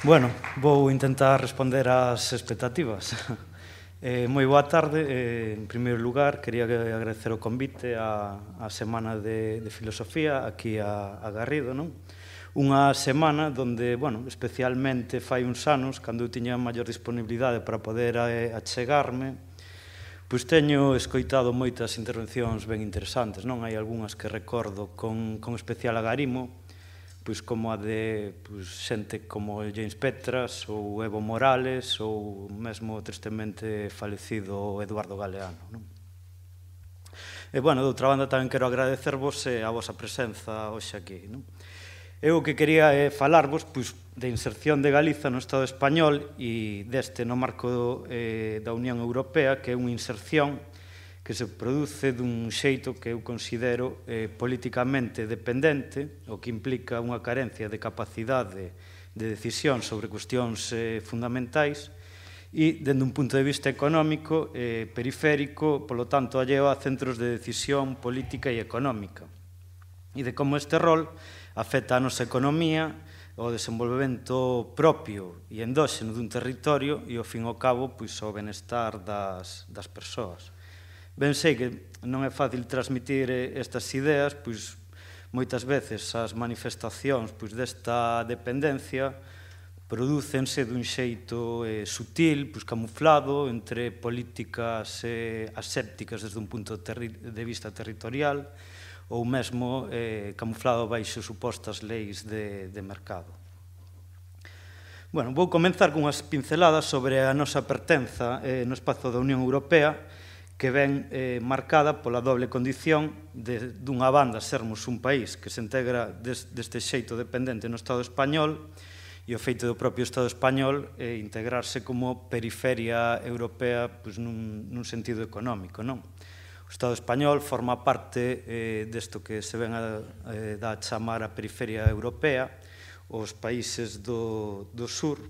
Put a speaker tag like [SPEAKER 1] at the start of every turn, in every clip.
[SPEAKER 1] Bueno, vou intentar responder ás expectativas. Moi boa tarde. En primeiro lugar, quería agradecer o convite á Semana de Filosofía aquí a Garrido, non? Unha semana donde, bueno, especialmente fai uns anos, cando eu tiña maior disponibilidade para poder achegarme, pois teño escoitado moitas intervencións ben interesantes, non? Hai algunhas que recordo con especial agarimo, pois como a de xente como James Petras ou Evo Morales ou mesmo tristemente falecido Eduardo Galeano, non? E, bueno, de outra banda tamén quero agradecervos a vosa presenza hoxe aquí, non? Eu o que quería é falarvos de inserción de Galiza no Estado español e deste no marco da Unión Europea, que é unha inserción que se produce dun xeito que eu considero políticamente dependente, o que implica unha carencia de capacidade de decisión sobre cuestións fundamentais e, dende un punto de vista económico, periférico, polo tanto, alleo a centros de decisión política e económica, e de como este rol afecta a nosa economía, o desenvolvemento propio e endóxeno dun territorio e, ao fin e ao cabo, o benestar das persoas. Ben sei que non é fácil transmitir estas ideas, pois moitas veces as manifestacións desta dependencia prodúcense dun xeito sutil, camuflado entre políticas asépticas desde un punto de vista territorial ou mesmo camuflado baixo supostas leis de mercado. Bueno, vou comenzar cunhas pinceladas sobre a nosa pertenza no espazo da Unión Europea, que ven marcada pola doble condición dunha banda sermos un país que se integra deste xeito dependente no Estado español e o feito do propio Estado español integrarse como periferia europea nun sentido económico, non? O Estado español forma parte desto que se ven a chamar a periferia europea, os países do sur,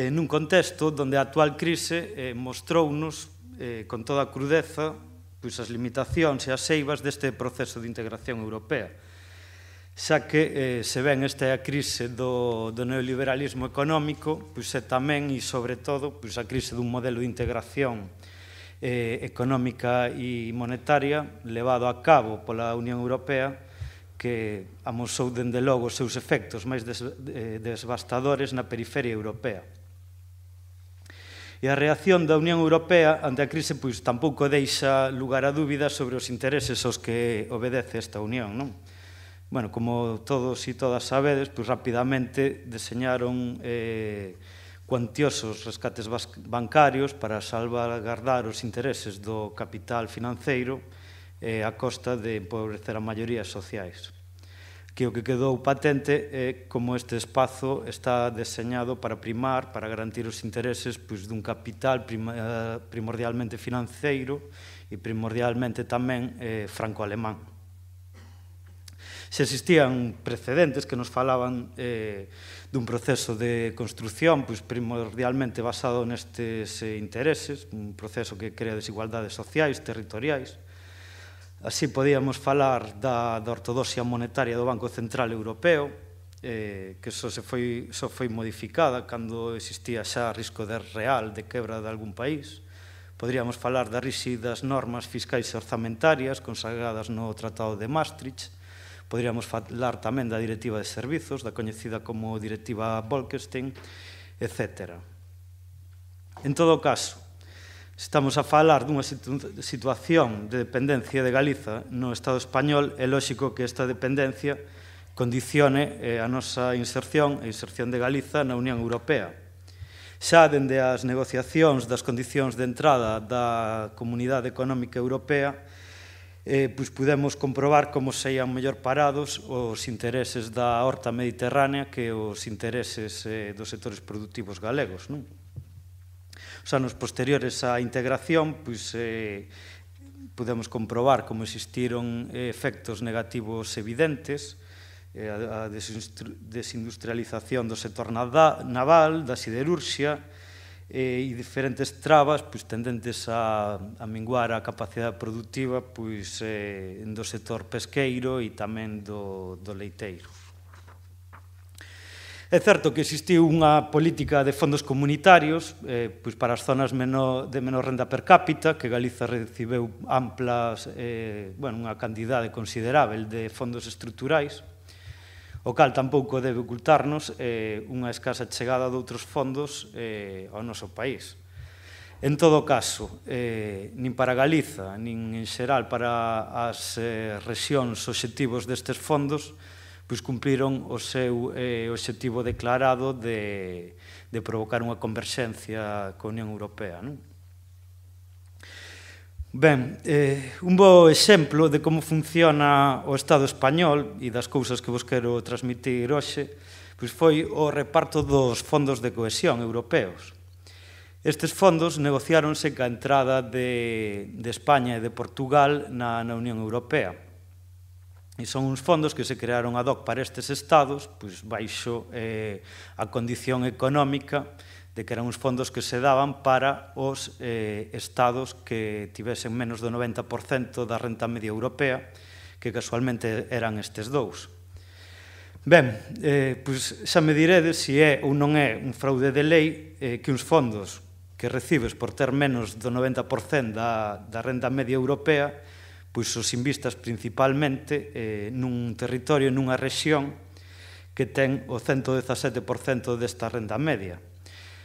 [SPEAKER 1] nun contexto onde a actual crise mostrounos con toda a crudeza as limitacións e as eivas deste proceso de integración europea, xa que se ven esta crise do neoliberalismo económico e tamén e sobre todo a crise dun modelo de integración económica e monetaria levado a cabo pola Unión Europea, que amosou dende logo os seus efectos máis devastadores na periferia europea. E a reacción da Unión Europea ante a crise tampouco deixa lugar a dúbidas sobre os intereses aos que obedece esta Unión, non? Bueno, como todos e todas sabedes, rapidamente deseñaron cuantiosos rescates bancarios para salvaguardar os intereses do capital financeiro a costa de empobrecer a maiorías sociais. Que o que quedou patente é como este espazo está deseñado para primar, para garantir os intereses dun capital primordialmente financeiro e primordialmente tamén franco-alemán. Se existían precedentes que nos falaban dun proceso de construción primordialmente basado nestes intereses, un proceso que crea desigualdades sociais, territoriais. Así podíamos falar da ortodoxia monetaria do Banco Central Europeo, que só foi modificada cando existía xa risco real de quebra de algún país. Poderíamos falar das ríxidas normas fiscais e orzamentarias consagradas no Tratado de Maastricht. Poderíamos falar tamén da Directiva de Servizos, da coñecida como Directiva Bolkestein, etc. En todo caso, estamos a falar dunha situación de dependencia de Galiza no Estado español, é lóxico que esta dependencia condicione a nosa inserción e inserción de Galiza na Unión Europea. Xa dende as negociacións das condicións de entrada da Comunidade Económica Europea, pudemos comprobar como saían mellor parados os intereses da horta mediterránea que os intereses dos sectores productivos galegos, non? Os anos posteriores á integración, podemos comprobar como existiron efectos negativos evidentes, a desindustrialización do sector naval, da siderurxia e diferentes trabas tendentes a minguar a capacidade productiva do sector pesqueiro e tamén do leiteiro. É certo que existiu unha política de fondos comunitarios pois para as zonas de menor renda per cápita, que Galiza recibeu unha cantidade considerável de fondos estruturais, o cal tampouco debe ocultarnos unha escasa chegada de outros fondos ao noso país. En todo caso, nin para Galiza, nin en xeral para as rexións obxectivos destes fondos, pois cumpriron o seu obxectivo declarado de provocar unha converxencia coa Unión Europea. Ben, un bo exemplo de como funciona o Estado español e das cousas que vos quero transmitir hoxe, pois foi o reparto dos fondos de cohesión europeos. Estes fondos negociáronse ca entrada de España e de Portugal na Unión Europea. E son uns fondos que se crearon ad hoc para estes estados, pois baixo a condición económica de que eran uns fondos que se daban para os estados que tivesen menos do 90% da renta media europea, que casualmente eran estes dous. Ben, pois xa me diredes se é ou non é un fraude de lei que uns fondos que recibes por ter menos do 90% da renta media europea pois os invistas principalmente nun territorio, nunha rexión que ten o 117% desta renda media,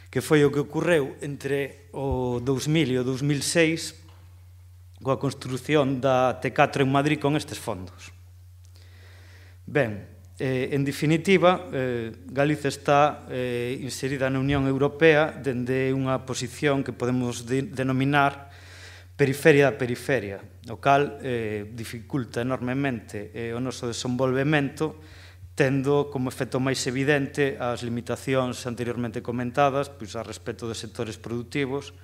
[SPEAKER 1] que foi o que ocorreu entre o 2000 e o 2006 coa construción da T4 en Madrid con estes fondos. Ben, en definitiva, Galiza está inserida na Unión Europea dende unha posición que podemos denominar periferia da periferia, o cal dificulta enormemente o noso desenvolvemento, tendo como efecto máis evidente as limitacións anteriormente comentadas a respecto de sectores productivos,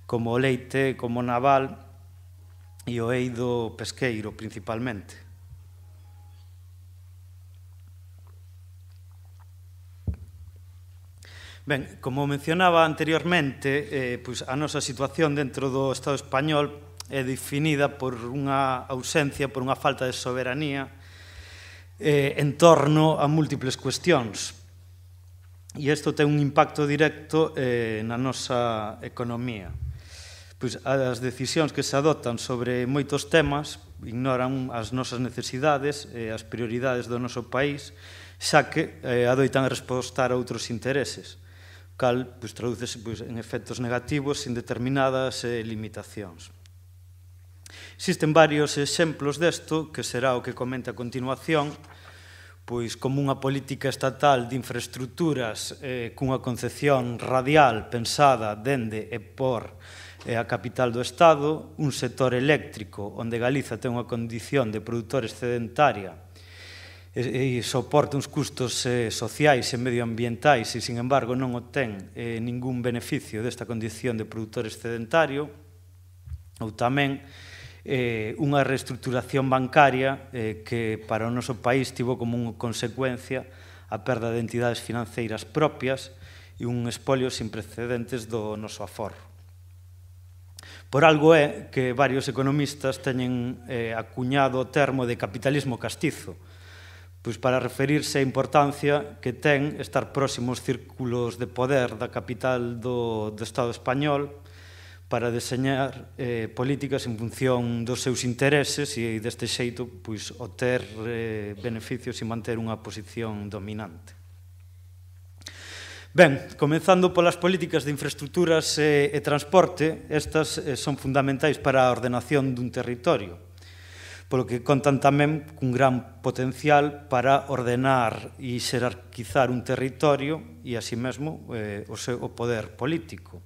[SPEAKER 1] como o leite, como o naval e o eido pesqueiro, principalmente. Ben, como mencionaba anteriormente, a nosa situación dentro do Estado español é definida por unha ausencia, por unha falta de soberanía en torno a múltiples cuestións. E isto ten un impacto directo na nosa economía. As decisións que se adoptan sobre moitos temas ignoran as nosas necesidades e as prioridades do noso país, xa que adoitan respostar a outros intereses, cal tradúcese en efectos negativos sin determinadas limitacións. Existen varios exemplos desto, que será o que comente a continuación, pois como unha política estatal de infraestructuras cunha concepción radial pensada dende e por a capital do Estado, un sector eléctrico onde Galiza ten unha condición de produtor excedentaria e soporta uns custos sociais e medioambientais e, sin embargo, non obtén ningún beneficio desta condición de produtor excedentario, ou tamén unha reestructuración bancaria que para o noso país tivo como consecuencia a perda de entidades financeiras propias e un espolio sin precedentes do noso aforro. Por algo é que varios economistas teñen acuñado o termo de capitalismo castizo, pois para referirse á importancia que ten estar próximos círculos de poder da capital do Estado español para deseñar políticas en función dos seus intereses e deste xeito obter beneficios e manter unha posición dominante. Ben, comenzando polas políticas de infraestructuras e transporte, estas son fundamentais para a ordenación dun territorio, polo que contan tamén cun gran potencial para ordenar e xerarquizar un territorio e, así mesmo, o poder político.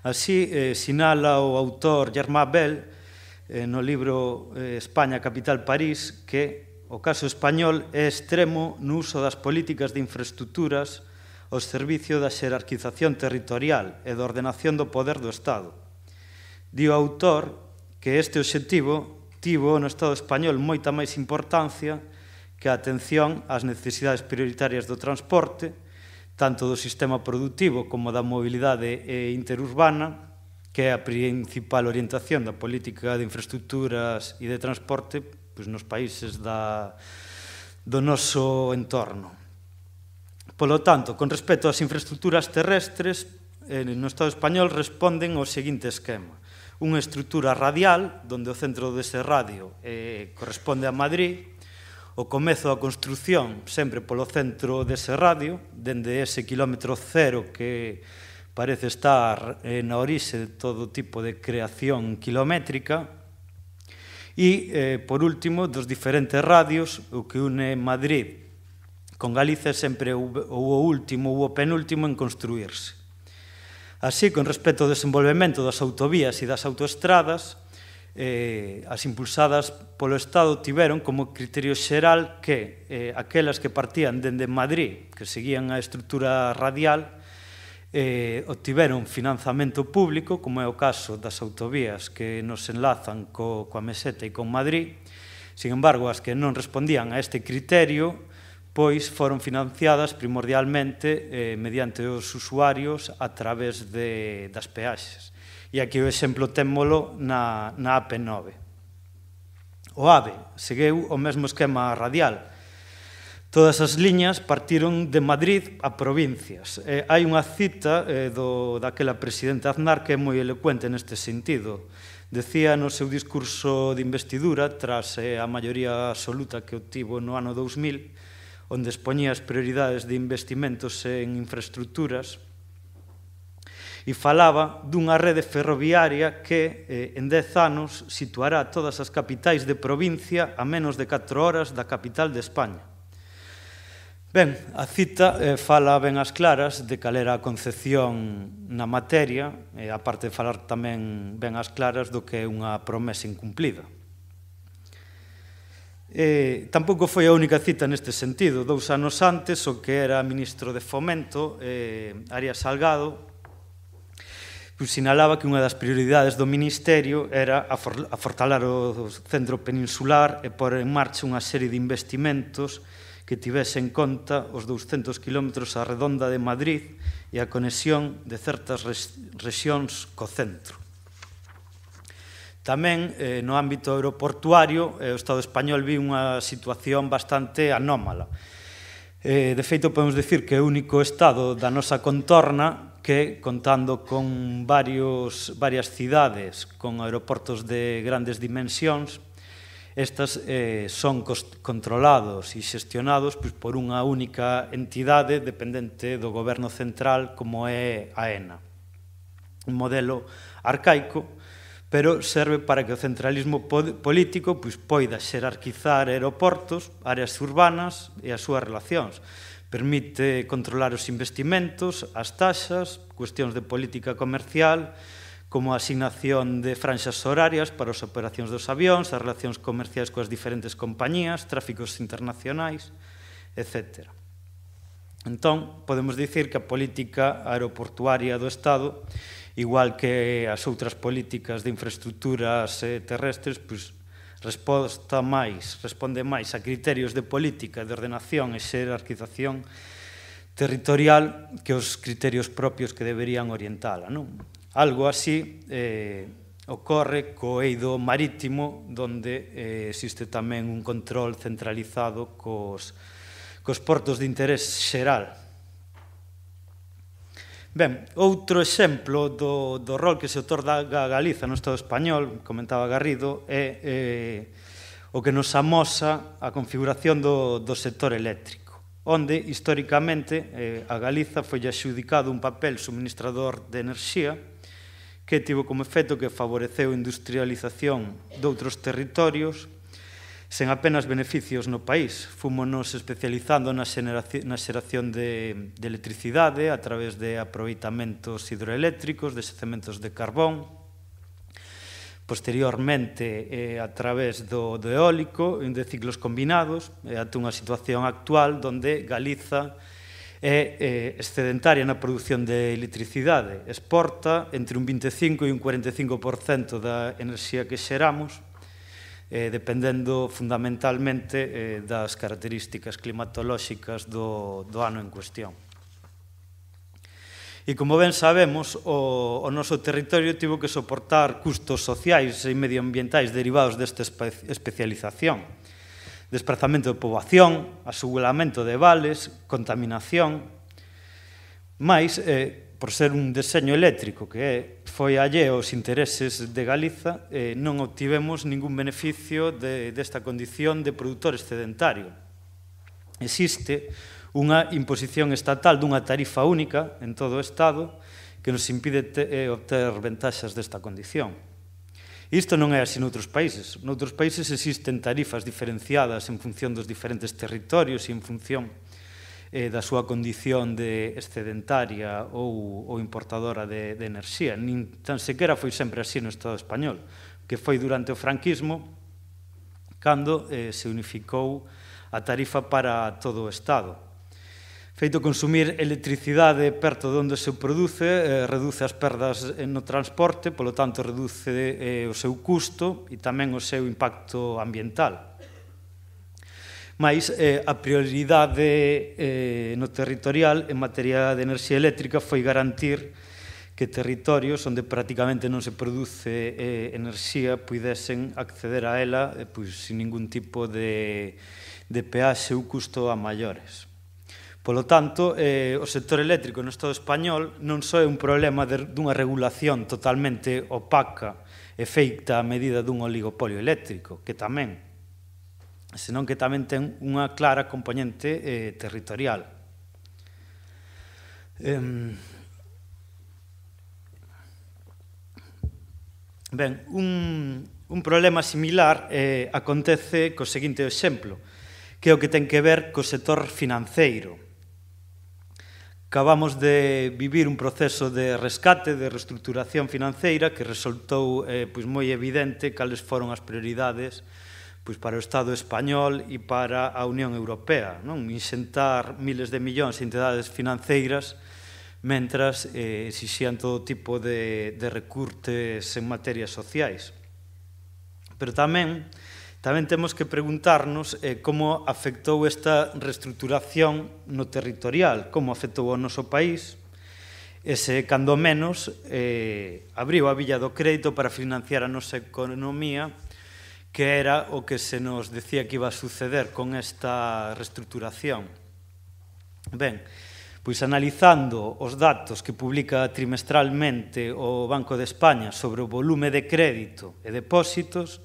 [SPEAKER 1] Así, sinala o autor Germain Bell no libro España, capital París, que o caso español é extremo no uso das políticas de infraestructuras ao servicio da xerarquización territorial e da ordenación do poder do Estado. Di o autor que este obxectivo tivo no Estado español moita máis importancia que a atención ás necesidades prioritarias do transporte, tanto do sistema productivo como da mobilidade interurbana, que é a principal orientación da política de infraestructuras e de transporte nos países do noso entorno. Polo tanto, con respecto ás infraestructuras terrestres, no Estado español responden ao seguinte esquema. Unha estrutura radial, onde o centro dese radio corresponde a Madrid, o comezo da construción sempre polo centro dese radio, dende ese kilómetro cero que parece estar na orixe de todo tipo de creación kilométrica, e, por último, dos diferentes radios, o que une Madrid con Galicia sempre o último ou o penúltimo en construírse. Así, con respecto ao desenvolvemento das autovías e das autoestradas, as impulsadas polo Estado tiveron como criterio xeral que aquelas que partían dende Madrid, que seguían a estrutura radial, obtiveron financiamento público, como é o caso das autovías que nos enlazan coa Meseta e con Madrid. Sin embargo, as que non respondían a este criterio, pois foron financiadas primordialmente mediante os usuarios a través das peaxes. E aquí o exemplo témolo na AP9. O AVE seguiu o mesmo esquema radial. Todas as liñas partiron de Madrid a provincias. Hai unha cita daquela presidente Aznar que é moi elocuente neste sentido. Decía no seu discurso de investidura, tras a maioría absoluta que obtivo no ano 2000, onde expoñía as prioridades de investimentos en infraestructuras, e falaba dunha rede ferroviaria que en 10 anos situará todas as capitais de provincia a menos de 4 horas da capital de España. Ben, a cita fala ben as claras de cal era a concepción na materia, a parte de falar tamén ben as claras do que é unha promesa incumplida. Tampouco foi a única cita neste sentido. 2 anos antes, o que era ministro de Fomento, Arias Salgado, sinalaba que unha das prioridades do Ministerio era afortalar o centro peninsular e pôr en marcha unha serie de investimentos que tivese en conta os 200 kilómetros á redonda de Madrid e a conexión de certas rexións co centro. Tamén, no ámbito aeroportuario, o Estado español vive unha situación bastante anómala. De feito, podemos dicir que é o único Estado da nosa contorna que, contando con varias cidades con aeroportos de grandes dimensións, estas son controlados e xestionados por unha única entidade dependente do goberno central como é AENA. Un modelo arcaico, pero serve para que o centralismo político poida xerarquizar aeroportos, áreas urbanas e as súas relacións. Permite controlar os investimentos, as taxas, cuestións de política comercial, como a asignación de franxas horarias para as operacións dos avións, as relacións comerciais coas diferentes compañías, tráficos internacionais, etc. Entón, podemos dicir que a política aeroportuaria do Estado, igual que as outras políticas de infraestructuras terrestres, responde máis a criterios de política, de ordenación e xerarquización territorial que os criterios propios que deberían orientala, non? Algo así ocorre co eido marítimo, onde existe tamén un control centralizado cos portos de interés xeral. Ben, outro exemplo do rol que se otorga a Galiza no Estado español, comentaba Garrido, é o que nos amosa a configuración do sector eléctrico, onde, históricamente, a Galiza foi adxudicado un papel suministrador de enerxía que tivo como efecto que favoreceu a industrialización doutros territorios sen apenas beneficios no país. Fúmonos especializando na xeración de electricidade a través de aproveitamentos hidroeléctricos, de xacementos de carbón, posteriormente a través do eólico, de ciclos combinados, ata unha situación actual onde Galiza é excedentaria na produción de electricidade. Exporta entre un 25% e un 45% da enerxía que xeramos, dependendo fundamentalmente das características climatolóxicas do ano en cuestión. E como ben sabemos, o noso territorio tivo que soportar custos sociais e medioambientais derivados desta especialización. Desplazamento de poboación, aseguramiento de vales, contaminación, mais, por ser un deseño eléctrico que foi alleo aos intereses de Galiza, non obtivemos ningún beneficio desta condición de produtor excedentario. Existe unha imposición estatal dunha tarifa única en todo o Estado que nos impide obter ventaxas desta condición. Isto non é así noutros países. Noutros países existen tarifas diferenciadas en función dos diferentes territorios e en función da súa condición de excedentaria ou importadora de enerxía. Nin tan sequera foi sempre así no Estado español, que foi durante o franquismo cando se unificou a tarifa para todo o Estado. Feito consumir electricidade perto de onde se produce, reduce as perdas no transporte, polo tanto reduce o seu custo e tamén o seu impacto ambiental. Mais a prioridade no territorial en materia de enerxía eléctrica foi garantir que territorios onde prácticamente non se produce enerxía puidesen acceder a ela sin ningún tipo de peaxe ou custo a maiores. Polo tanto, o sector eléctrico no Estado español non só é un problema dunha regulación totalmente opaca e feita a medida dun oligopolio eléctrico, que tamén, senón que tamén ten unha clara componente territorial. Ben, un problema similar acontece co seguinte exemplo, que é o que ten que ver co sector financeiro. Acabamos de vivir un proceso de rescate, de reestruturación financeira que resultou moi evidente cales foron as prioridades para o Estado español e para a Unión Europea, inxentar miles de millóns en entidades financeiras mentras exixían todo tipo de recurtes en materias sociais. Pero tamén temos que preguntarnos como afectou esta reestruturación no territorial, como afectou ao noso país, e se, cando menos, abriu a billa do crédito para financiar a nosa economía, que era o que se nos decía que iba a suceder con esta reestruturación. Ben, pois analizando os datos que publica trimestralmente o Banco de España sobre o volume de crédito e depósitos,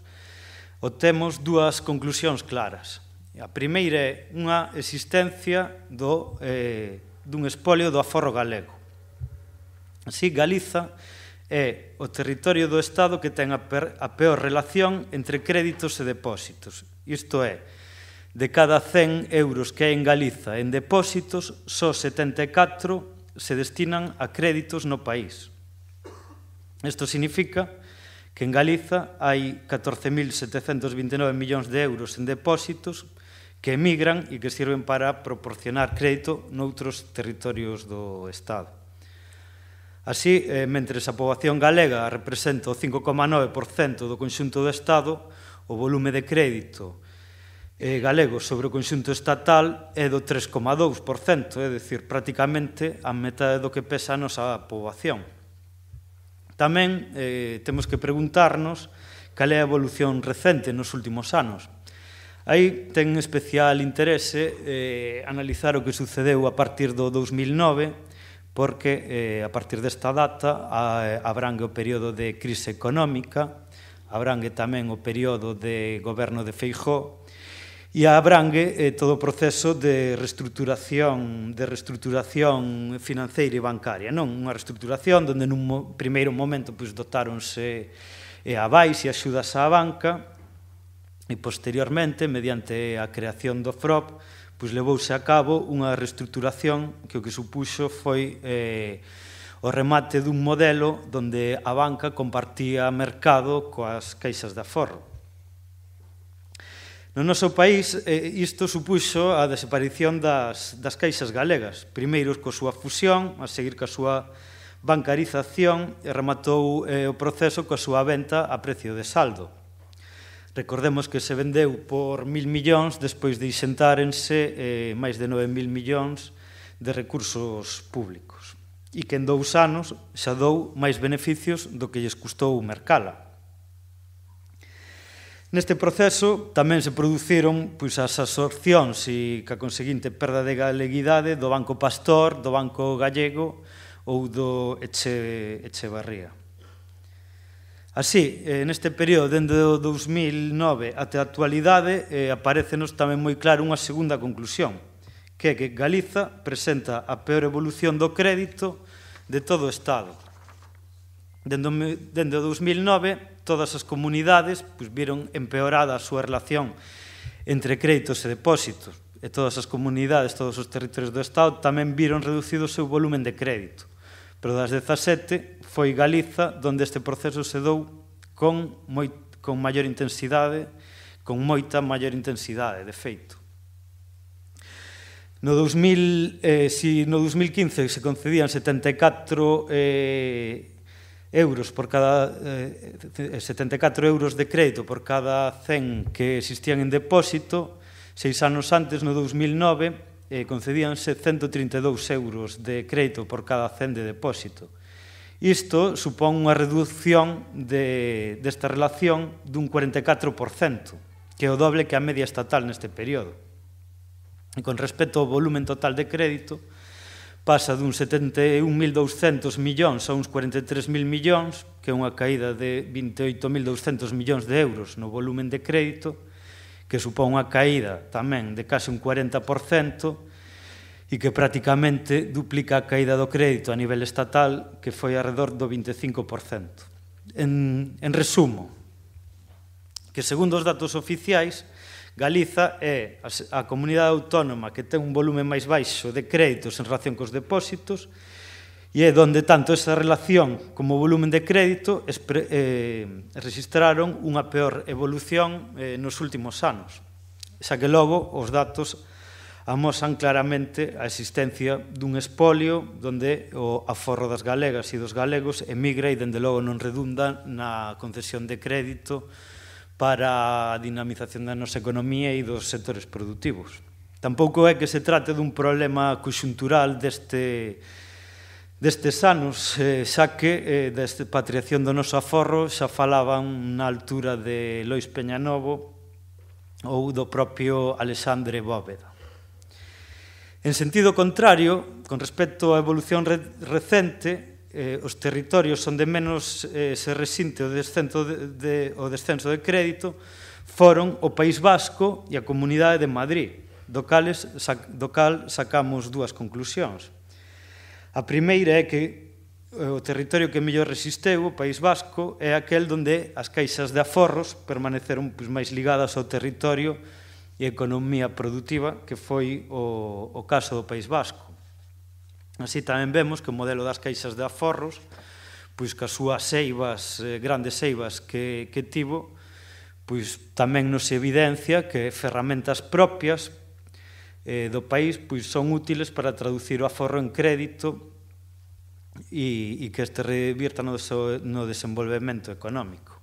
[SPEAKER 1] obtemos dúas conclusións claras. A primeira é unha existencia dun espolio do aforro galego. Así, Galiza é o territorio do Estado que ten a peor relación entre créditos e depósitos. Isto é, de cada 100 euros que hai en Galiza en depósitos, só 74 se destinan a créditos no país. Isto significa que en Galiza hai 14.729 millóns de euros en depósitos que emigran e que sirven para proporcionar crédito noutros territorios do Estado. Así, mentres a poboación galega representa o 5,9% do conxunto do Estado, o volume de crédito galego sobre o conxunto estatal é do 3,2%, é dicir, prácticamente a metade do que pesa a nosa poboación. Tamén temos que preguntarnos cal é a evolución recente nos últimos anos. Aí ten especial interese analizar o que sucedeu a partir do 2009, porque a partir desta data abrangue o período de crise económica, abrangue tamén o período de goberno de Feijóo, e abrangue todo o proceso de reestruturación financeira e bancaria. Non unha reestruturación onde nun primeiro momento dotáronse avais e axudas á banca e posteriormente, mediante a creación do FROP, levouse a cabo unha reestruturación que o que supuxo foi o remate dun modelo onde a banca compartía mercado coas caixas de aforro. No noso país, isto supuxo a desaparición das caixas galegas, primeiro coa súa fusión, a seguir coa súa bancarización, e rematou o proceso coa súa venta a precio de saldo. Recordemos que se vendeu por 1.000 millóns despois de inxentárense máis de 9.000 millóns de recursos públicos e que en 2 anos xa dou máis beneficios do que lles custou mercala. Neste proceso tamén se produciron as absorcións e ca conseguinte perda de galeguidade do Banco Pastor, do Banco Gallego ou do Echevarría. Así, neste período, dende o 2009 até a actualidade, aparecenos tamén moi claro unha segunda conclusión, que é que Galiza presenta a peor evolución do crédito de todo o Estado. Dende o 2009, todas as comunidades viron empeorada a súa relación entre créditos e depósitos, e todas as comunidades, todos os territorios do Estado tamén viron reducido o seu volumen de crédito. Pero das 17 foi Galiza onde este proceso se dou con maior intensidade, con moita maior intensidade, de feito. No 2015 se concedían 74 euros por cada 74 euros de crédito por cada 100 que existían en depósito. 6 anos antes, no 2009, concedíanse 132 euros de crédito por cada 100 de depósito. Isto supón unha reducción desta relación dun 44%, que é o doble que a media estatal neste período. E con respecto ao volumen total de crédito, pasa dun 71.200 millóns a uns 43.000 millóns, que é unha caída de 28.200 millóns de euros no volumen de crédito, que supón unha caída tamén de case un 40% e que prácticamente duplica a caída do crédito a nivel estatal, que foi alrededor do 25%. En resumo, que segundo os datos oficiais, Galiza é a comunidade autónoma que ten un volumen máis baixo de créditos en relación cos depósitos e é onde tanto esa relación como o volumen de crédito registraron unha peor evolución nos últimos anos. Xa que logo os datos amosan claramente a existencia dun espolio onde o aforro das galegas e dos galegos emigra e dende logo non redunda na concesión de crédito para a dinamización da nosa economía e dos sectores productivos. Tampouco é que se trate dun problema conxuntural destes anos, xa que da expatriación do noso aforro xa falaban na altura de Lois Peñanovo ou do propio Alexandre Bóveda. En sentido contrario, con respecto á evolución recente, os territorios onde menos se resinte o descenso de crédito foron o País Vasco e a Comunidade de Madrid, do cal sacamos dúas conclusións. A primeira é que o territorio que mellor resisteu, o País Vasco, é aquel onde as caixas de aforros permaneceron máis ligadas ao territorio e a economía productiva, que foi o caso do País Vasco. Así tamén vemos que o modelo das caixas de aforros, que as súas seivas, grandes seivas que tivo, tamén nos evidencia que ferramentas propias do país son útiles para traducir o aforro en crédito e que este revirta no desenvolvemento económico.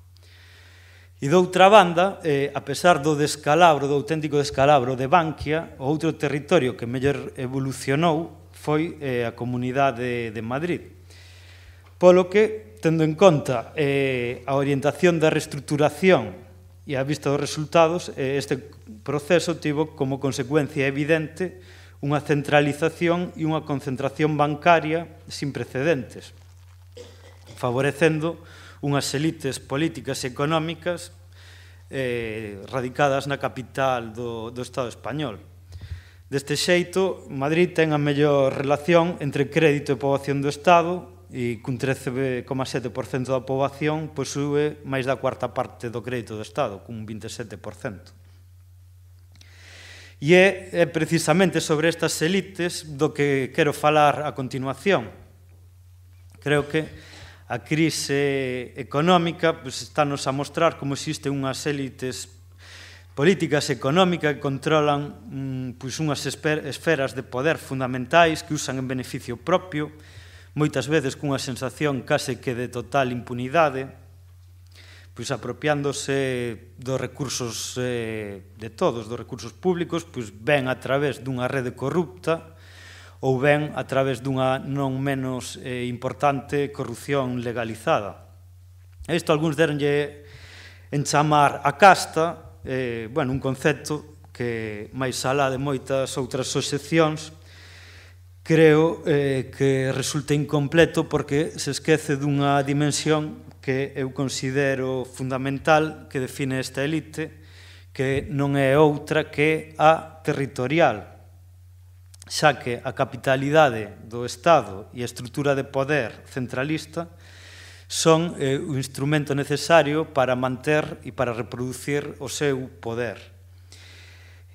[SPEAKER 1] E doutra banda, a pesar do auténtico descalabro de Bankia, o outro territorio que mellor evolucionou foi a Comunidade de Madrid. Polo que, tendo en conta a orientación da reestruturación e a vista dos resultados, este proceso tivo como consecuencia evidente unha centralización e unha concentración bancaria sin precedentes, favorecendo unhas elites políticas e económicas radicadas na capital do Estado español. Deste xeito, Madrid ten a mellor relación entre crédito e poboación do Estado e cun 13,7% da poboación posúe máis da cuarta parte do crédito do Estado, cun 27%. E é precisamente sobre estas elites do que quero falar a continuación. Creo que a crise económica estános a mostrar como existen unhas élites políticas económicas que controlan unhas esferas de poder fundamentais que usan en beneficio propio, moitas veces cunha sensación case que de total impunidade, apropiándose dos recursos de todos, dos recursos públicos, ben a través dunha rede corrupta ou ben a través dunha non menos importante corrupción legalizada. A isto algúns deronlle en chamar a casta, un concepto que, máis alá de moitas outras excepcións, creo que resulta incompleto porque se esquece dunha dimensión que eu considero fundamental que define esta elite, que non é outra que a territorial, xa que a capitalidade do Estado e a estrutura de poder centralista son o instrumento necesario para manter e para reproducir o seu poder.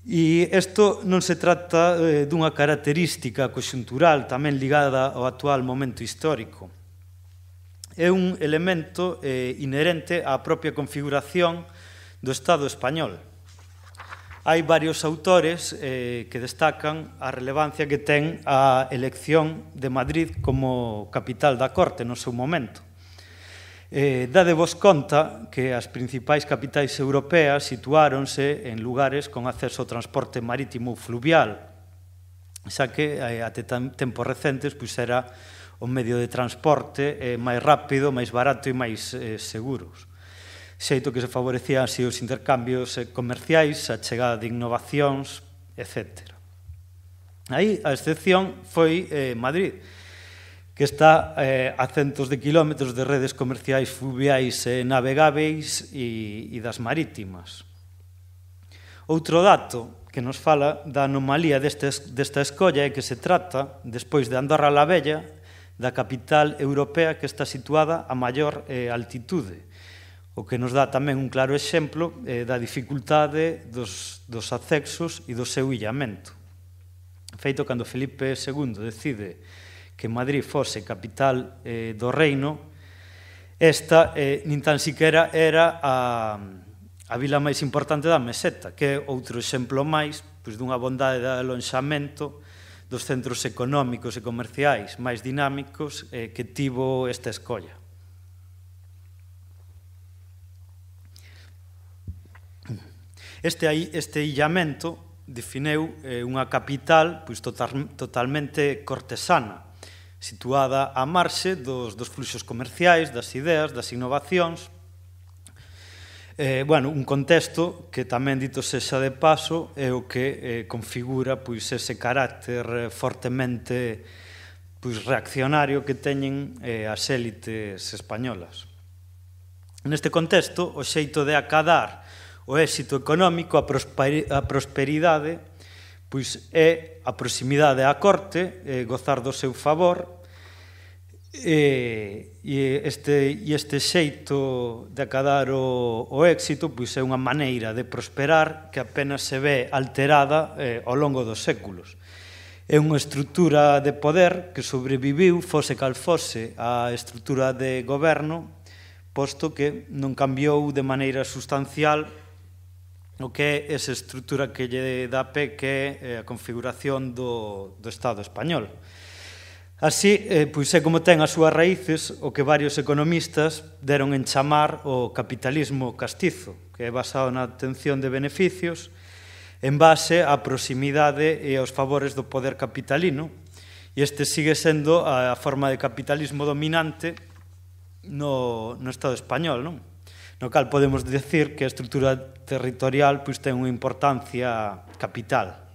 [SPEAKER 1] E isto non se trata dunha característica conxuntural tamén ligada ao actual momento histórico. É un elemento inherente á propia configuración do Estado español. Hai varios autores que destacan a relevancia que ten a elección de Madrid como capital da corte no seu momento. Dadevos conta que as principais capitais europeas situáronse en lugares con acceso ao transporte marítimo fluvial, xa que até tempos recentes era o medio de transporte máis rápido, máis barato e máis seguros. Xeito que se favorecían así os intercambios comerciais, a chegada de innovacións, etc. Aí a excepción foi Madrid, que está a centos de kilómetros de redes comerciais fluviais navegáveis e das marítimas. Outro dato que nos fala da anomalía desta escolla é que se trata, despois de Andorra la Vella, da capital europea que está situada a maior altitude, o que nos dá tamén un claro exemplo da dificultade dos accesos e do seu illamento. Feito cando Felipe II decide que Madrid fose capital do reino, esta nin tan siquera era a vila máis importante da meseta, que é outro exemplo máis dunha bondade de alonxamento dos centros económicos e comerciais máis dinámicos que tivo esta escolla. Este illamento defineu unha capital totalmente cortesana, situada á marxe dos fluxos comerciais, das ideas, das innovacións. Un contexto que tamén, dito sexa de paso, é o que configura ese carácter fortemente reaccionario que teñen as élites españolas. Neste contexto, o xeito de acadar o éxito económico, a prosperidade, é a proximidade á corte, gozar do seu favor, e este xeito de acadar o éxito é unha maneira de prosperar que apenas se ve alterada ao longo dos séculos. É unha estrutura de poder que sobreviviu, fose cal fose, a estrutura de goberno, posto que non cambiou de maneira sustancial o que é esa estrutura que lle dá pé, que é a configuración do Estado español. Así, é como ten as súas raíces o que varios economistas deron en chamar o capitalismo castizo, que é basado na obtención de beneficios en base á proximidade e aos favores do poder capitalino, e este sigue sendo a forma de capitalismo dominante no Estado español, non? No cal podemos decir que a estrutura territorial ten unha importancia capital.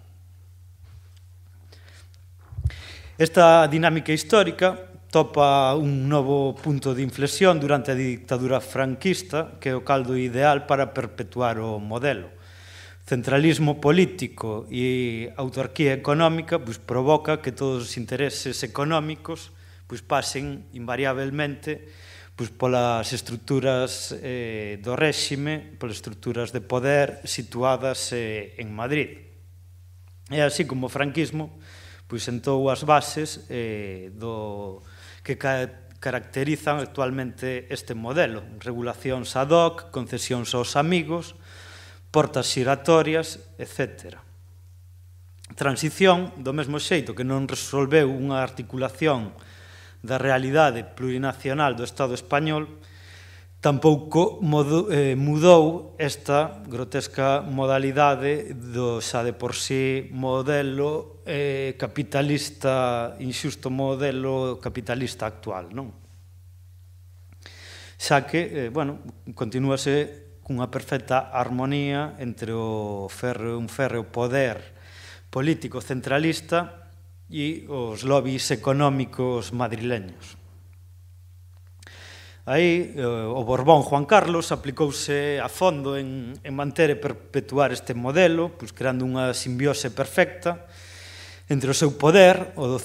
[SPEAKER 1] Esta dinámica histórica topa un novo punto de inflexión durante a dictadura franquista, que é o caldo ideal para perpetuar o modelo. Centralismo político e autarquía económica provoca que todos os intereses económicos pasen invariablemente polas estruturas do réxime, polas estruturas de poder situadas en Madrid. É así como o franquismo sentou as bases que caracterizan actualmente este modelo: regulacións ad hoc, concesións aos amigos, portas xiratorias, etc. Transición, do mesmo xeito que non resolveu unha articulación da realidade plurinacional do Estado español, tampouco mudou esta grotesca modalidade do xa de por sí modelo capitalista, inxusto modelo capitalista actual, non? Xa que, continúase cunha perfecta armonía entre un férreo poder político centralista e os lobbies económicos madrileños. Aí, o Borbón Juan Carlos aplicouse a fondo en manter e perpetuar este modelo, creando unha simbiose perfecta entre o seu poder, o do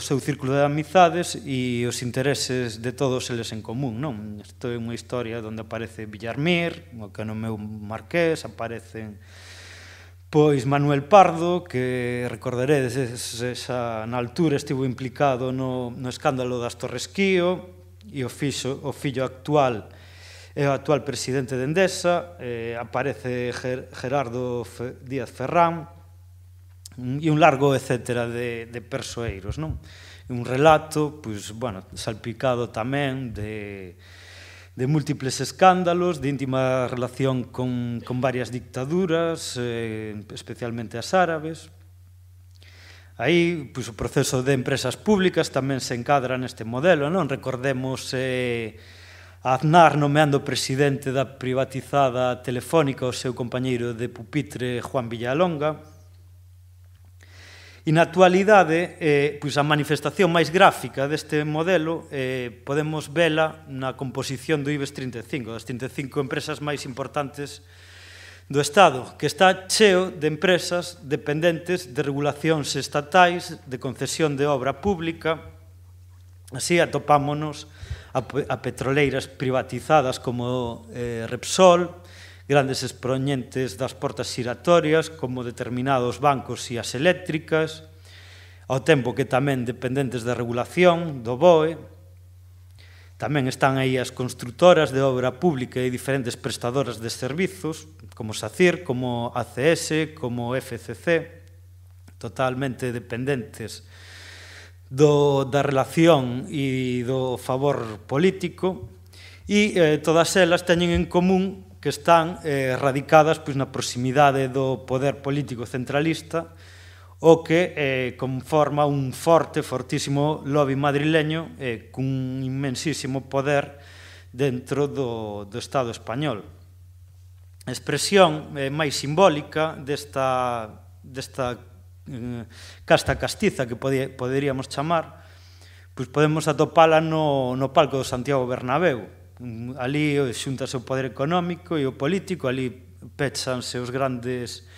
[SPEAKER 1] seu círculo de amizades e os intereses de todos eles en común, non? Isto é unha historia onde aparece Villarmir, o que no meu marqués, aparecen pois Manuel Pardo, que recordaredes, na altura estivo implicado no escándalo das Torres Quío, e o fillo actual é o actual presidente de Endesa, aparece Gerardo Díaz Ferrán, e un largo etcétera de persoeiros, non? Un relato, salpicado tamén de múltiples escándalos, de íntima relación con varias dictaduras, especialmente as árabes. Aí, o proceso de empresas públicas tamén se encadra neste modelo, non? Recordemos a Aznar nomeando presidente da privatizada Telefónica o seu compañeiro de pupitre Juan Villalonga. E na actualidade, a manifestación máis gráfica deste modelo podemos vela na composición do IBEX 35, das 35 empresas máis importantes do Estado, que está cheo de empresas dependentes de regulacións estatais, de concesión de obra pública. Así atopámonos a petroleiras privatizadas como Repsol, grandes expoñentes das portas xiratorias como determinados bancos e as eléctricas, ao tempo que tamén dependentes da regulación do BOE. Tamén están aí as construtoras de obra pública e diferentes prestadoras de servizos, como SACIR, como ACS, como FCC, totalmente dependentes da relación e do favor político, e todas elas teñen en común que están radicadas na proximidade do poder político centralista, o que conforma un fortísimo lobby madrileño cun inmensísimo poder dentro do Estado español. A expresión máis simbólica desta casta castiza que poderíamos chamar, podemos atopala no palco do Santiago Bernabéu. Ali xúntase o poder económico e o político, ali péchanse os grandes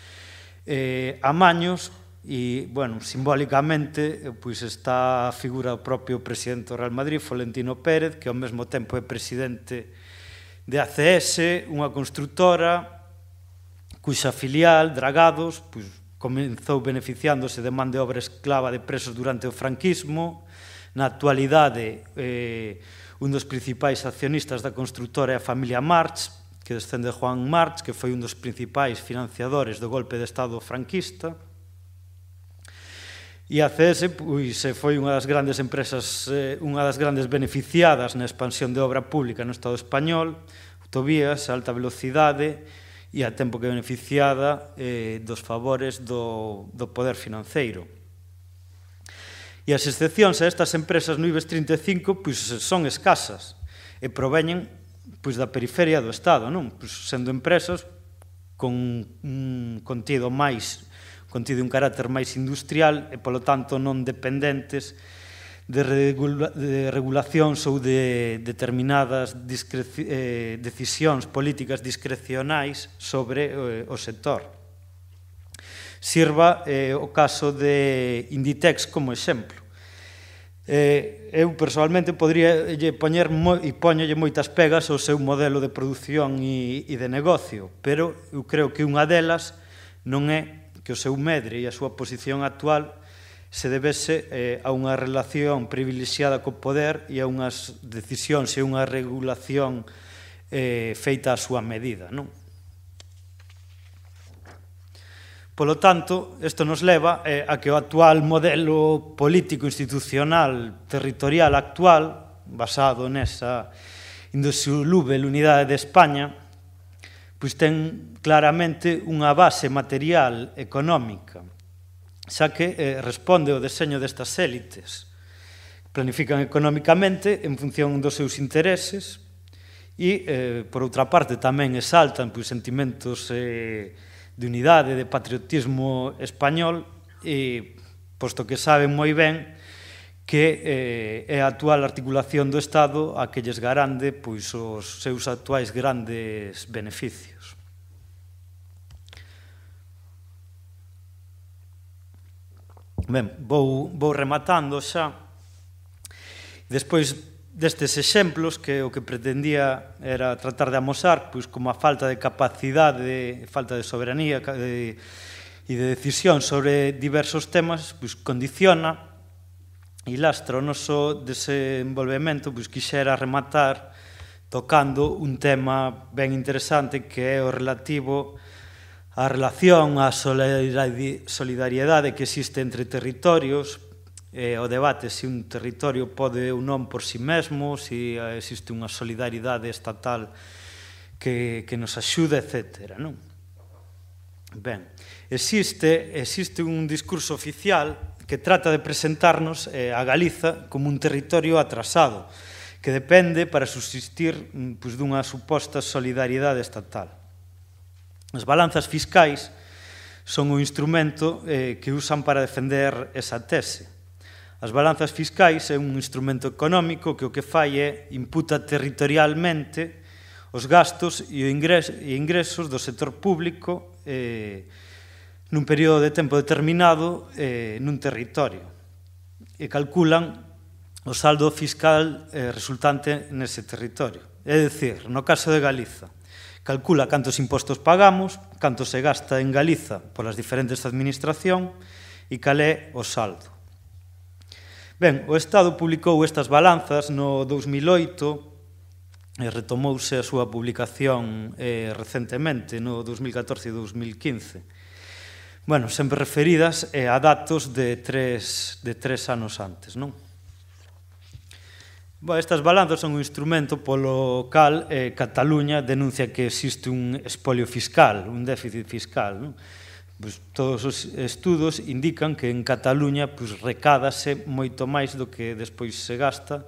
[SPEAKER 1] amaños e, simbólicamente, está a figura do propio presidente do Real Madrid, Florentino Pérez, que ao mesmo tempo é presidente de ACS, unha construtora cuxa filial, Dragados, comenzou beneficiándose de man de obra esclava de presos durante o franquismo. Na actualidade, un dos principais accionistas da construtora é a familia March, que descende de Juan March, que foi un dos principais financiadores do golpe de Estado franquista. E a ACS foi unha das grandes empresas, unha das grandes beneficiadas na expansión de obra pública no Estado español, autovías, alta velocidade, e a tempo que beneficiada dos favores do poder financeiro. E as excepcións a estas empresas no IBEX 35 son escasas e proveñen da periferia do Estado, sendo empresas con un contido un carácter máis industrial e, polo tanto, non dependentes de regulacións ou de determinadas decisións políticas discrecionais sobre o sector. Sirva o caso de Inditex como exemplo. Eu, personalmente, podría poñer e poñolle moitas pegas ao seu modelo de produción e de negocio, pero eu creo que unha delas non é que o seu medre e a súa posición actual se debese a unha relación privilexiada co poder e a unhas decisións e unha regulación feita á súa medida, non? Polo tanto, isto nos leva a que o actual modelo político institucional territorial actual, basado nesa indisoluble unidade de España, ten claramente unha base material económica, xa que responde ao deseño destas élites. Planifican económicamente en función dos seus intereses e, por outra parte, tamén exaltan sentimentos de unidade, de patriotismo español, e posto que saben moi ben que é a actual articulación do Estado a que lles garante os seus actuais grandes beneficios. Ben, vou rematando xa. Despois destes exemplos, que o que pretendía era tratar de amosar como a falta de capacidade, falta de soberanía e de decisión sobre diversos temas, condiciona e lastra o noso desenvolvemento. Quixera rematar tocando un tema ben interesante, que é o relativo á relación, á solidariedade que existe entre territorios, o debate se un territorio pode ou non por si mesmo, se existe unha solidariedade estatal que nos axuda, etc. Ben, existe un discurso oficial que trata de presentarnos a Galiza como un territorio atrasado, que depende para subsistir dunha suposta solidariedade estatal. As balanzas fiscais son un instrumento que usan para defender esa tese. As balanzas fiscais é un instrumento económico que o que fai é imputa territorialmente os gastos e ingresos do sector público nun período de tempo determinado nun territorio, e calculan o saldo fiscal resultante nese territorio. É dicir, no caso de Galiza, calcula cantos impostos pagamos, canto se gasta en Galiza polas diferentes administracións e cal é o saldo. Ben, o Estado publicou estas balanzas no 2008 e retomouse a súa publicación recentemente, no 2014 e 2015. Bueno, sempre referidas a datos de tres anos antes, non? Estas balanzas son un instrumento polo cal Cataluña denuncia que existe un espolio fiscal, un déficit fiscal, non? Todos os estudos indican que en Cataluña recádase moito máis do que despois se gasta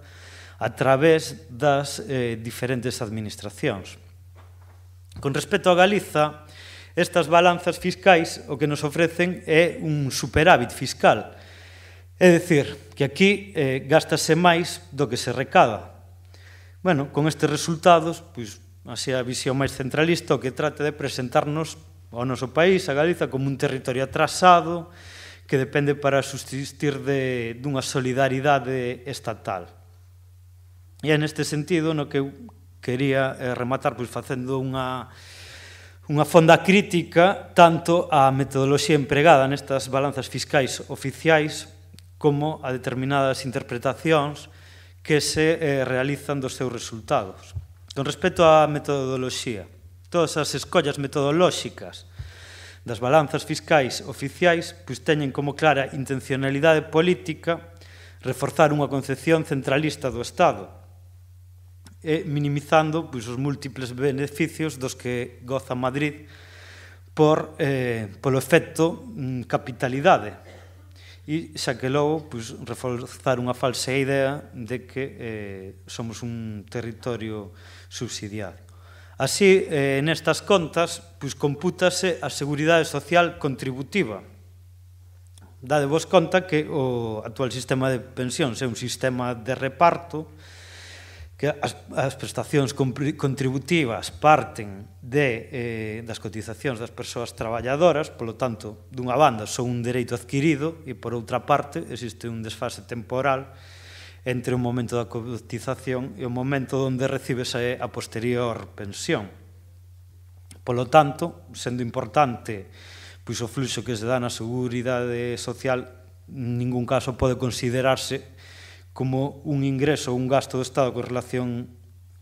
[SPEAKER 1] a través das diferentes administracións. Con respecto a Galiza, estas balanzas fiscais o que nos ofrecen é un superávit fiscal. É dicir, que aquí gástase máis do que se recada. Bueno, con estes resultados, así a visión máis centralista, o que trata de presentarnos ao noso país, a Galiza, como un territorio atrasado que depende para subsistir dunha solidaridade estatal. E é neste sentido no que eu quería rematar facendo unha fonda crítica tanto á metodoloxía empregada nestas balanzas fiscais oficiais como a determinadas interpretacións que se realizan dos seus resultados. Con respecto á metodoloxía, todas as escollas metodolóxicas das balanzas fiscais oficiais teñen como clara intencionalidade política reforzar unha concepción centralista do Estado e minimizando os múltiples beneficios dos que goza Madrid polo efecto capitalidade, e xa que logo reforzar unha falsa idea de que somos un territorio subsidiario. Así, nestas contas, compútase a seguridade social contributiva. Dadevos conta que o actual sistema de pensións é un sistema de reparto, que as prestacións contributivas parten das cotizacións das persoas traballadoras, polo tanto, dunha banda son un dereito adquirido e, por outra parte, existe un desfase temporal entre o momento da cotización e o momento onde recibes a posterior pensión. Polo tanto, sendo importante o fluxo que se dá na seguridade social, en ningún caso pode considerarse como un ingreso ou un gasto do Estado con relación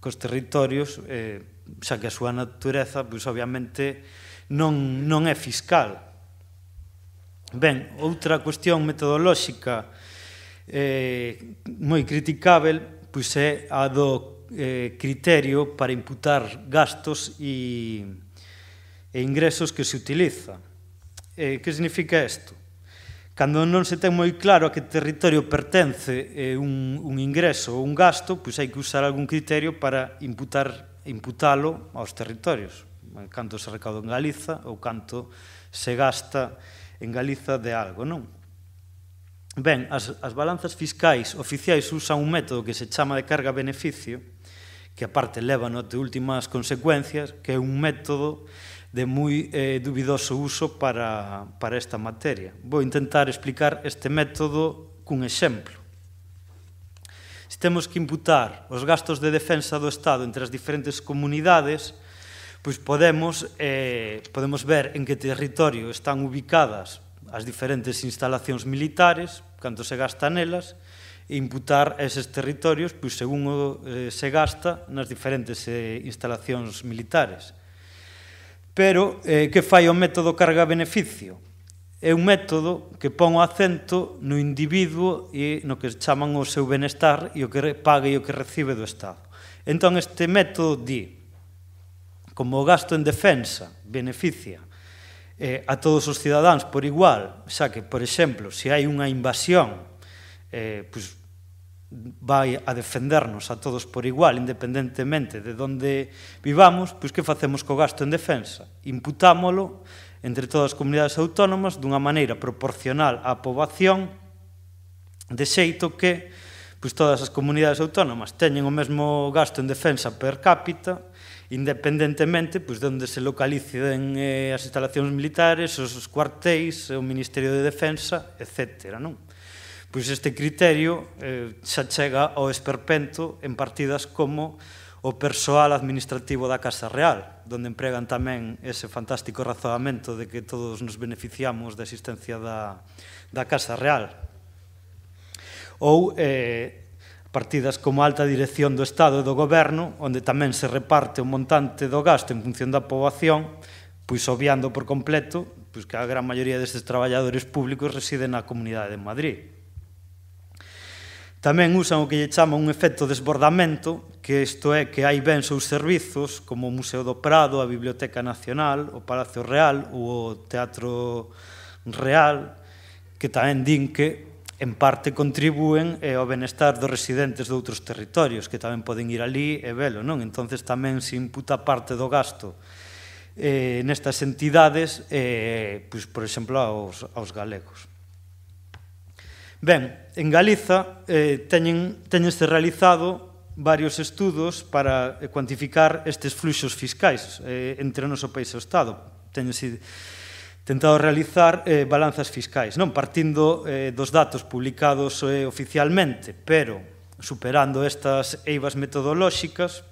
[SPEAKER 1] cos territorios, xa que a súa natureza, obviamente, non é fiscal. Ben, outra cuestión metodolóxica moi criticável é a do criterio para imputar gastos e ingresos que se utiliza. Que significa isto? Cando non se ten moi claro a que territorio pertence un ingreso ou un gasto, hai que usar algún criterio para imputar imputalo aos territorios, canto se recauda en Galiza ou canto se gasta en Galiza de algo, non? Ben, as balanzas fiscais oficiais usan un método que se chama de carga-beneficio, que aparte leva até últimas consecuencias, que é un método de moi dubidoso uso para esta materia. Vou intentar explicar este método cun exemplo. Se temos que imputar os gastos de defensa do Estado entre as diferentes comunidades, pois podemos ver en que territorio están ubicadas as diferentes instalacións militares, canto se gasta nelas, e imputar eses territorios pois, según se gasta nas diferentes instalacións militares. Pero, que fai o método carga-beneficio? É un método que pon o acento no individuo e no que chaman o seu benestar e o que paga e o que recibe do Estado. Entón, este método di, como o gasto en defensa beneficia a todos os cidadáns por igual, xa que, por exemplo, se hai unha invasión, pois vai a defendernos a todos por igual, independentemente de onde vivamos, pois que facemos co gasto en defensa? Imputámolo entre todas as comunidades autónomas dunha maneira proporcional á poboación, de xeito que pois todas as comunidades autónomas teñen o mesmo gasto en defensa per cápita, independentemente pois, de onde se localicen as instalacións militares, os cuartéis, o Ministerio de Defensa, etc. Non? Pois este criterio xa chega ao esperpento en partidas como o persoal administrativo da Casa Real, onde empregan tamén ese fantástico razoamento de que todos nos beneficiamos da existencia da Casa Real. Ou partidas como a alta dirección do Estado e do Goberno, onde tamén se reparte o montante do gasto en función da poboación, pois obviando por completo pois que a gran maioría destes traballadores públicos residen na Comunidade de Madrid. Tamén usan o que lle chaman un efecto desbordamento, que isto é que hai bens ou servizos como o Museo do Prado, a Biblioteca Nacional, o Palacio Real ou o Teatro Real, que tamén din que en parte contribúen ao benestar dos residentes de outros territorios, que tamén poden ir ali e velo, non? Entonces tamén se imputa parte do gasto nestas entidades, pois, por exemplo, aos galegos. Ben, en Galiza teñense realizado varios estudos para cuantificar estes fluxos fiscais entre o noso país e o Estado. Teñense tentado realizar balanzas fiscais, non partindo dos datos publicados oficialmente, pero superando estas eivas metodolóxicas,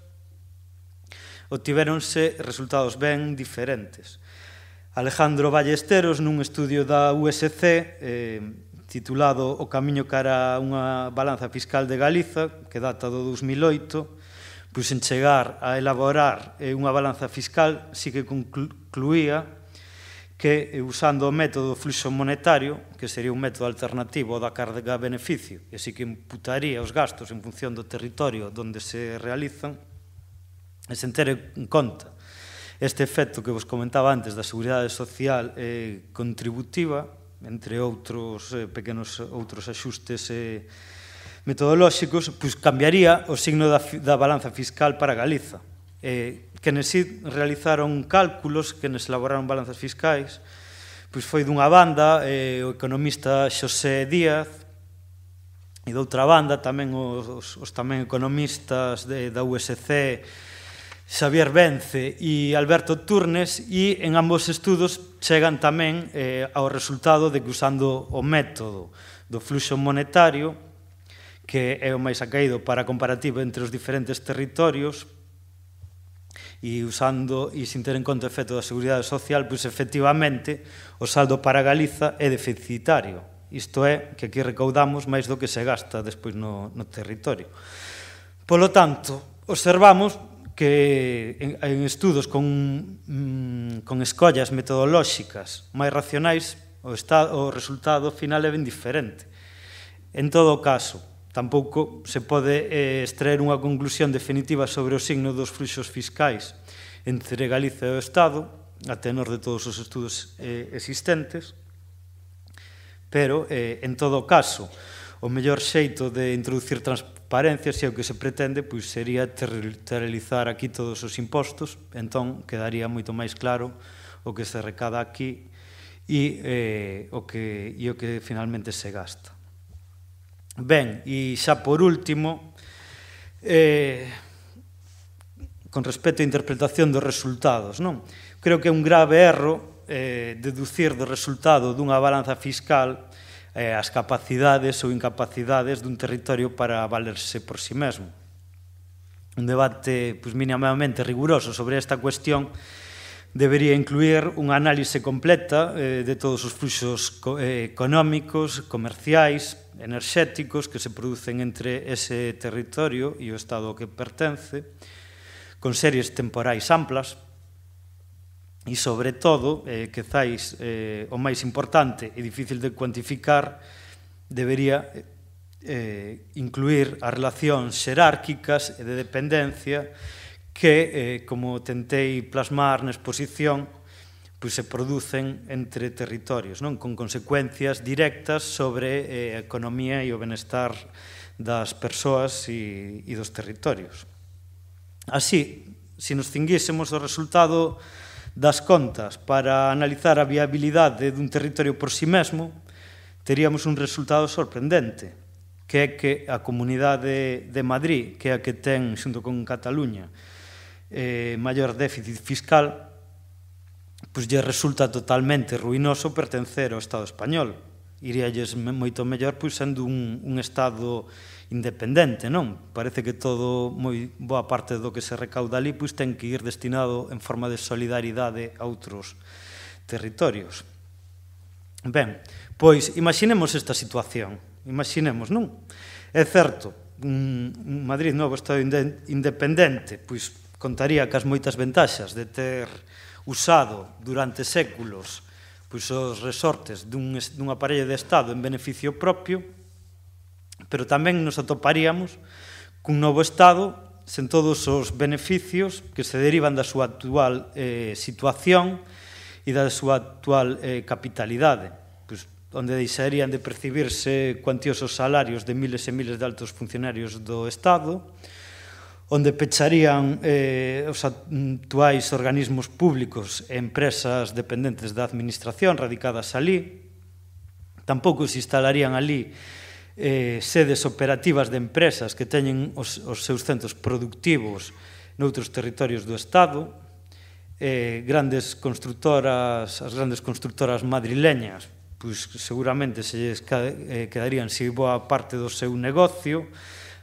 [SPEAKER 1] obtivéronse resultados ben diferentes. Alejandro Ballesteros, nun estudio da USC, titulado O camiño cara a unha balanza fiscal de Galiza, que data do 2008, pois en chegar a elaborar unha balanza fiscal, sí que concluía que, usando o método fluxo monetario, que sería un método alternativo ao da carga-beneficio, e así que imputaría os gastos en función do territorio onde se realizan, e sen ter en conta este efecto que vos comentaba antes da seguridade social contributiva, entre outros pequenos outros axustes metodolóxicos, pois cambiaría o signo da balanza fiscal para Galiza. Quenes realizaron cálculos, quenes elaboraron balanzas fiscais, pois foi dunha banda o economista Xosé Díaz, e doutra banda tamén os tamén economistas da USC, Xavier Vence e Alberto Turnes, e en ambos estudos chegan tamén ao resultado de que usando o método do fluxo monetario, que é o máis acaído para a comparativa entre os diferentes territorios, e usando e sin ter en conta o efecto da seguridade social, pois efectivamente o saldo para Galiza é deficitario. Isto é, que aquí recaudamos máis do que se gasta despois no territorio. Polo tanto, observamos que en estudos con escollas metodolóxicas máis racionais o resultado final é ben diferente. En todo caso, tampouco se pode extraer unha conclusión definitiva sobre o signo dos fluxos fiscais entre Galiza e o Estado, a tenor de todos os estudos existentes, pero, en todo caso, o mellor xeito de introducir transparencias e o que se pretende pois, sería territorializar aquí todos os impostos, entón quedaría moito máis claro o que se recada aquí e o que finalmente se gasta. Ben, e xa por último, con respecto á interpretación dos resultados, non? Creo que é un grave erro deducir do resultado dunha balanza fiscal as capacidades ou incapacidades dun territorio para valerse por si mesmo. Un debate minimamente riguroso sobre esta cuestión debería incluir unha análise completa de todos os fluxos económicos, comerciais, enerxéticos que se producen entre ese territorio e o Estado ao que pertence, con series temporais amplas, e, sobre todo, quizais o máis importante e difícil de cuantificar, debería incluir as relacións xerárquicas e de dependencia que, como tentei plasmar na exposición, se producen entre territorios, con consecuencias directas sobre a economía e o benestar das persoas e dos territorios. Así, se nos cinguísemos o resultado das contas para analizar a viabilidade dun territorio por si mesmo, teríamos un resultado sorprendente, que é que a Comunidade de Madrid, que é a que ten, xunto con Cataluña, maior déficit fiscal, lle resulta totalmente ruinoso pertencer ao Estado español. Iríalles moito mellor sendo un Estado independente, non? Parece que todo, moi boa parte do que se recauda ali, ten que ir destinado en forma de solidaridade a outros territorios. Ben, pois, imaginemos esta situación. Imaginemos, non? É certo, Madrid, novo Estado independente, pois contaría cas moitas ventaxas de ter usado durante séculos os resortes dun aparello de Estado en beneficio propio, pero tamén nos atoparíamos cun novo Estado sen todos os beneficios que se derivan da súa actual situación e da súa actual capitalidade, onde deixarían de percibirse cuantiosos salarios de miles e miles de altos funcionarios do Estado, onde pecharían os actuais organismos públicos e empresas dependentes da administración radicadas alí, tampouco se instalarían alí sedes operativas de empresas que teñen os seus centros productivos noutros territorios do Estado, as grandes constructoras madrileñas, seguramente se quedarían sin boa parte do seu negocio,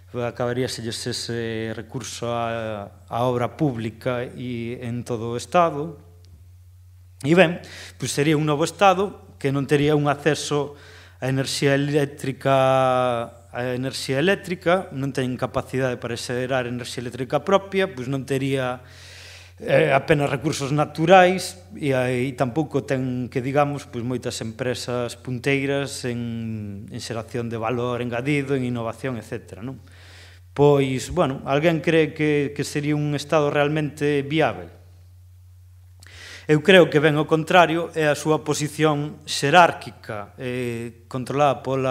[SPEAKER 1] acabaríaselles ese recurso á obra pública e en todo o Estado. E ben, sería un novo Estado que non tería un acceso a enerxía eléctrica, non ten capacidade para xerar enerxía eléctrica propia, non tería apenas recursos naturais e tampouco ten, que digamos, moitas empresas punteiras en xeración de valor engadido, en innovación, etc. Pois, bueno, alguén cree que sería un Estado realmente viável? Eu creo que ben ao contrario é a súa posición xerárquica controlada por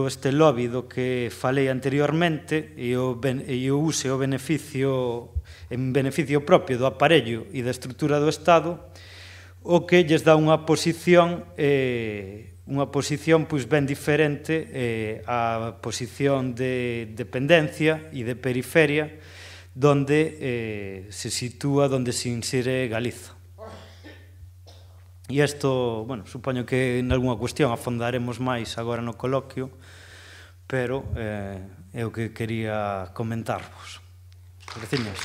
[SPEAKER 1] este lobby do que falei anteriormente e o use o beneficio en beneficio propio do aparello e da estrutura do Estado, o que lles dá unha posición ben diferente á posición de dependencia e de periferia donde se sitúa, donde se insire Galiza. E isto, bueno, supoño que en algunha cuestión afondaremos máis agora no coloquio, pero é o que quería comentarvos. Graciñas.